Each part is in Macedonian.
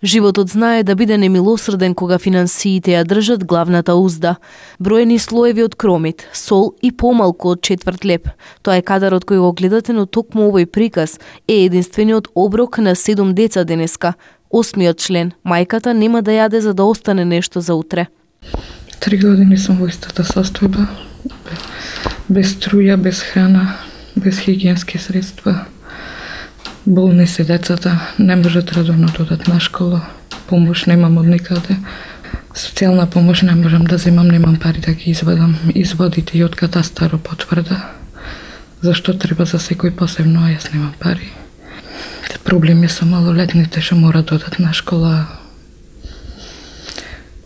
Животот знае да биде немилосрден кога финансиите ја држат главната узда. Броени слоеви од кромит, сол и помалку од четврт леп. Тоа е кадарот кој го гледате, но токму овој приказ е единствениот оброк на 7 деца денеска. 8-миот член, мајката нема да јаде за да остане нешто за утре. 3 години сум во истата состојба, без струја, без храна, без хигиенски средства. Болни се децата, не можат редовно да одат на школа, помош немам од никаде. Социјална помош не можам да земам, немам пари да ги извадам. Изводите и од катастарот потврда. Зашто треба за секој посебно, а јас немам пари. Проблеми со малолетните што морат да одат на школа.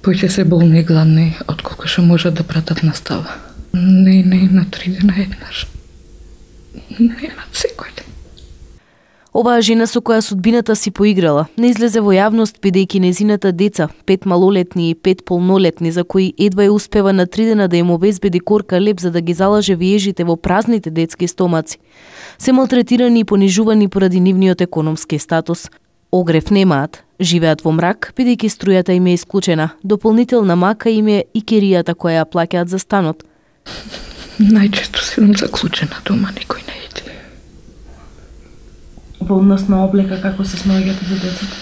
Поќе се болни и гладни, отколку што можат да пратат настава. Не на 3 дена еднаш. Нема секој ден. Оваа жена со која судбината си поиграла не излезе во јавност бидејќи незината деца, 5 малолетни и 5 полнолетни, за кои едва ја успева на 3 дена да им обезбеди корка леп за да ги залаже виежите во празните детски стомаци, се малтретирани и понижувани поради нивниот економски статус. Огрев немаат, живеат во мрак бидејќи струјата им е исклучена. Дополнителна мака им е и керијата која ја плаќаат за станот. Најчесто седам заклучена дома, никој не иде. Во однос на облека, како се снаоѓате за децата?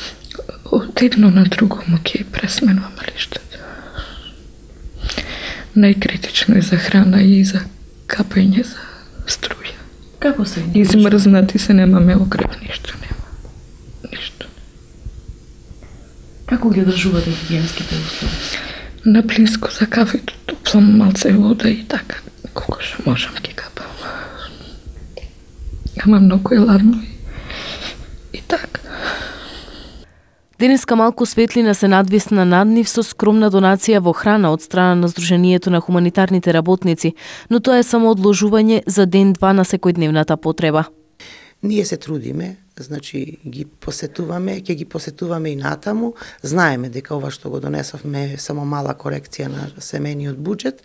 Од едно на друго му ќе пресменуваме лиштата. Најкритично е за храна и за капење за струја. Како се? Измрзнати се, немаме огрев, ништо нема. Ништо. Како ги одржувате хигиенските услови? На плинско за кафето топлам малце вода и така, колко што можам ги капам. Ама многу е ладно и така. Денеска малку светлина се надвисна над нив со скромна донација во храна од страна на Сдруженијето на хуманитарните работници, но тоа е само одложување за ден-два на секојдневната потреба. Ние се трудиме, значи ги посетуваме, ќе ги посетуваме и натаму. Знаеме дека ова што го донесовме е само мала корекција на семејниот буџет,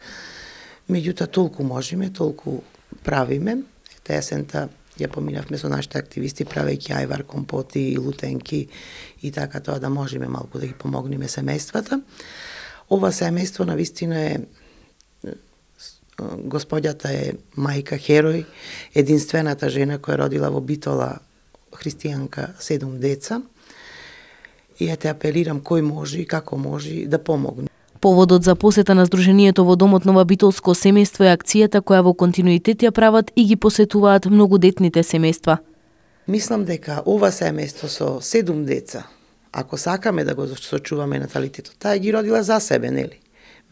меѓутоа толку можеме, толку правиме. Та есента ја поминавме со нашите активисти правејќи ајвар, компоти, лутенки и така тоа да можеме малку да ги помогнеме семејствата. Ова семејство навистина е, господјата е мајка херој, единствената жена која родила во Битола, христијанка, 7 деца. И ја те апелирам кој може и како може да помогне. Поводот за посета на Сдруженијето во домот Нова Битолско семејство е акцијата која во континуитет ја прават и ги посетуваат многодетните семејства. Мислам дека ова семејство со 7 деца, ако сакаме да го сочуваме наталитетот, таа ги родила за себе, нели?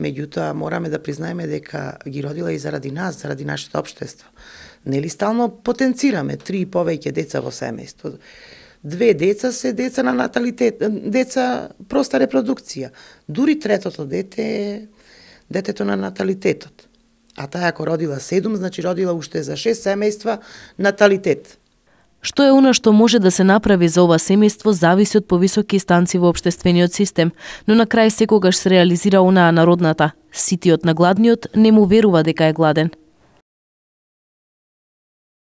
Меѓутоа мораме да признаеме дека ги родила и заради нас, заради нашето општество. Нели стално потенцираме 3 и повеќе деца во семејство. 2 деца се деца на наталитет, деца проста репродукција. Дури третото дете е детето на наталитетот. А таа ако родила 7, значи родила уште за 6 семејства наталитет. Што е она што може да се направи за ова семејство зависи од повисоки станци во општествениот систем, но на крај секогаш се реализира онаа народната: ситиот на гладниот не му верува дека е гладен.